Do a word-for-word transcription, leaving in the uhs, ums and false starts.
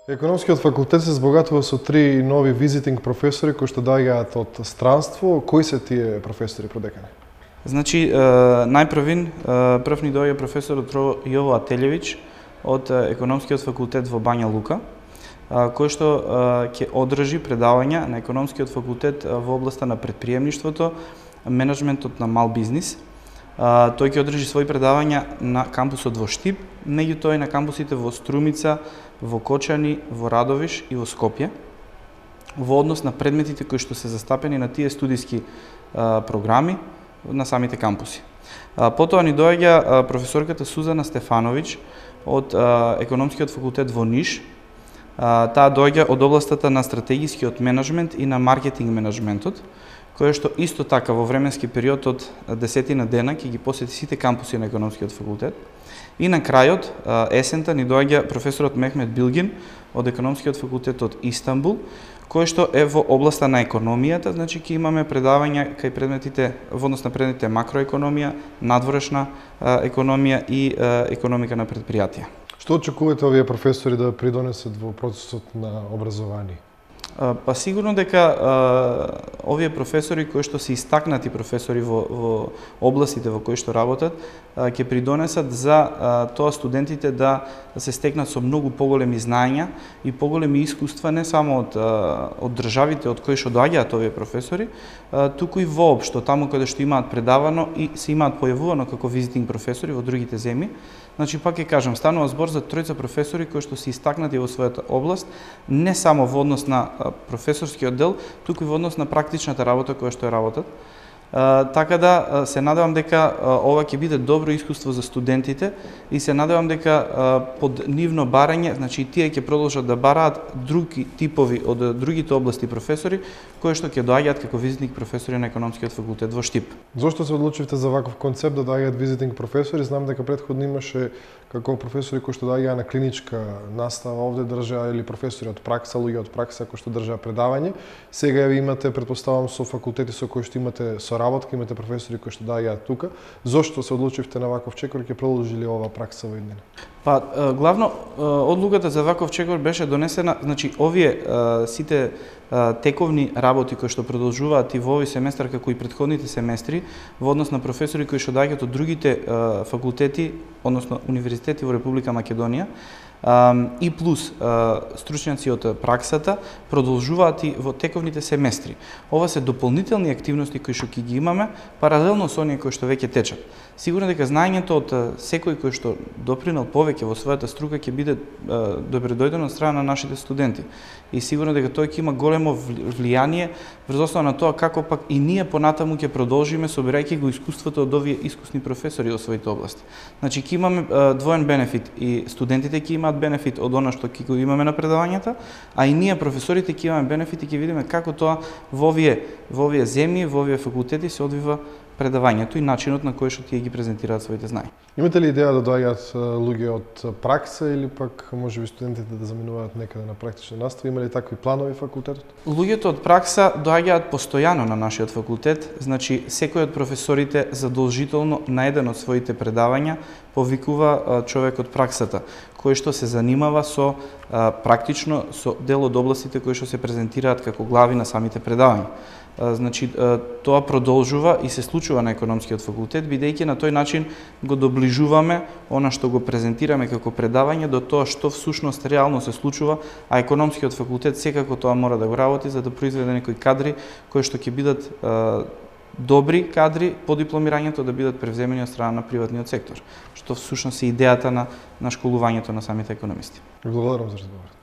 Економскиот факултет се збогатува со три нови визитинг професори кои што доаѓаат од странство. Кои се тие професори, продекани? Значи, најпрвин, прв ни доаѓа професорот Јово Ателјевиќ од Економскиот факултет во Бања Лука, кој што ќе одржи предавања на Економскиот факултет во областа на претприемништвото, менеджментот на мал бизнис. Тој ќе одржи своји предавања на кампусот во Штип, меѓутоа и на кампусите во Струмица, во Кочани, во Радовиш и во Скопје, во однос на предметите кои што се застапени на тие студиски програми на самите кампуси. Потоа ни доаѓа професорката Сузана Стефановиќ од Економскиот факултет во Ниш. Таа доаѓа од областата на стратегискиот менеджмент и на маркетинг менеджментот, која што исто така во временски период од десетина дена ќе ги посети сите кампуси на Економскиот факултет. И на крајот, есента, ни доаѓа професорот Мехмет Билгин од Економскиот факултет од Истанбул, кој што е во областа на економијата, значи ќе имаме предавања кај предметите, во однос на предметите макроекономија, надворешна економија и економика на предпријатија. Што очекувате овие професори да придонесат во процесот на образование? Па сигурно дека овие професори кои што се истакнати професори во, во областите во кои што работат, ќе придонесат за тоа студентите да се стекнат со многу поголеми знаења и поголеми искуства не само од, од државите од кои што доаѓаат овие професори, туку и воопшто таму каде што имаат предавано и се имаат појавувано како визитинг професори во другите земји. Значи, пак ќе кажам, станува збор за тројца професори кои што се истакнати во својата област, не само во однос на професорскиот дел, туку и во однос на практичната работа која што е работат. Така да се надевам дека ова ќе биде добро искуство за студентите и се надевам дека под нивно барање, значи тие ќе продолжат да бараат други типови од другите области професори кои што ќе доаѓаат како визитинг професори на Економскиот факултет во Штип. Зошто се одлучивте за ваков концепт да доаѓаат визитинг професори? Знам дека претходно имаше како професори кои што доаѓаа на клиничка настава овде држаа или професори од пракса, луѓе од пракса кои што држаа предавање. Сега имате, претпоставам, со факултети со кои што имате соработка, имате професори кои што доаѓаат тука. Зошто се одлучивте на ваков чекор и ќе продолжи ли ова пракса во иднина? Па, главно, одлуката за ваков чекор беше донесена, значи, овие сите тековни работи кои што продолжуваат и во овој семестар, како и претходните семестри, во однос на професори кои што доаѓаат од другите факултети, односно универзитети во Република Македонија, и плюс стручњаци од праксата продолжуваат и во тековните семестри. Ова се дополнителни активности кои што ќе ги имаме паралелно со оние кои што веќе течат. Сигурно дека знаењето од секој кој што допринел повеќе во својата струка ќе биде добредојдено од страна на нашите студенти. И сигурно дека тој ќе има големо влијание врз основа на тоа како пак и ние понатаму ќе продолжиме собирајќи го искуството од овие искусни професори во своите области. Значи ќе имаме двоен бенефит, и студентите ќе имаат бенефит од она што ќе го имаме на предавањата, а и ние професорите ќе имаме бенефит и ќе видиме како тоа во овие во овие земји, во овие факултети се одвива предавањето и начинот на кој што тие ги презентираат своите знаења. Имате ли идеја да доаѓаат луѓе од пракса или пак можеби студентите да заминуваат некаде на практична настава? Има ли такви планови факултетот? Луѓето од пракса доаѓаат постојано на нашиот факултет, значи секој од професорите задолжително на еден од своите предавања повикува човек од праксата, кој што се занимава со практично со дел од областите кои што се презентираат како глави на самите предавања. Значи, тоа продолжува и се случува на Економскиот факултет, бидејќи на тој начин го доближуваме она што го презентираме како предавање до тоа што всушност реално се случува, а Економскиот факултет секако тоа мора да го работи за да произведе некои кадри кои што ќе бидат добри кадри по дипломирањето да бидат превземени од страна на приватниот сектор, што всушност е идејата на, на школувањето на самите економисти. Благодарам за разговорот.